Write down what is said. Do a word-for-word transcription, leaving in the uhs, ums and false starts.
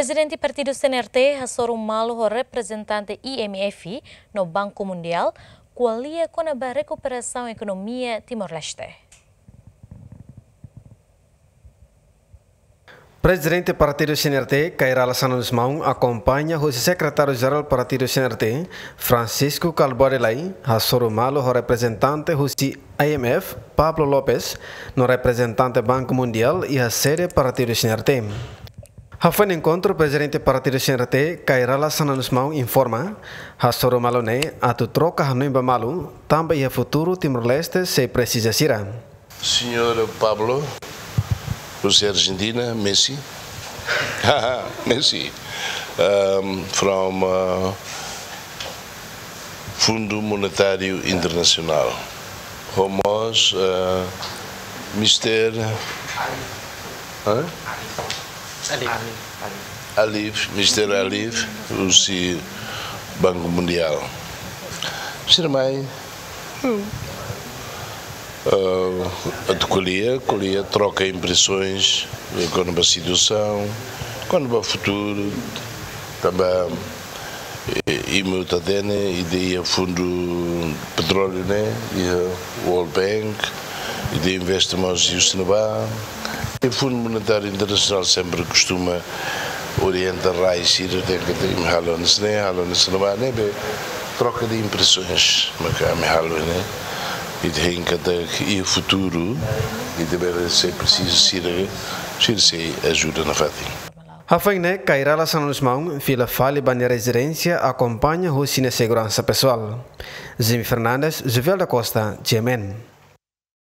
Prezidente Partidu C N R T hasoru malu ho reprezentante I M F no Banku Mundiál, ko'alia kona-ba rekuperasaun ekonomia Timor-Leste. Prezidente Partidu C N R T, Kay Rala Xanana Gusmão, akompaña husi Sekretáriu Jerál Partidu C N R T, Francisco Kalbuadi Lay, hasoru malu ho reprezentante husi I M F, Pablo Lopes, no reprezentante Banku Mundiál iha sede Partidu C N R T. Hafoin enkontru, Prezidente Partidu C N R T, Kay Rala Xanana Gusmão, informa, hasoru malu ne'e atu troka hanoin ba malu, tanba iha futuru Timor-Leste sei presiza sira. Senhor Pablo, husi Argentina, Messi. Messi. Um, from, uh, Fundo Monetário Internacional. Ho mós, uh, Mister, hã? Alif, Mister Alif, husi Banku Mundiál. Sira mai, eh, atu ko'alia, ko'alia, troka impresoens, eh, kona-ba situasaun, kona-ba futuru, tanba, eh, imi hotu hatene, ita iha Fundu Petróleu ne'e, iha World Bank, ita investe mós iha ne'ebá. I Fundu Monetáriu Internasionál sempre kostuma orienta rai sira, dehan katak imi halo hanesan ne'e, halo hanesan ne'ebá, ne'ebé troka de impresoens, maka ami halo ne'e. Ita hein katak iha futuru, ita bele sei presiza sira, sira sei ajuda nafatin. Hafoin ne'e, Kay Rala Xanana Gusmão fila fali ba nia rezidénsia, akompaña husi nia seguransa pesoál. Jimmy Fernandes, Jovel da Costa, G M N.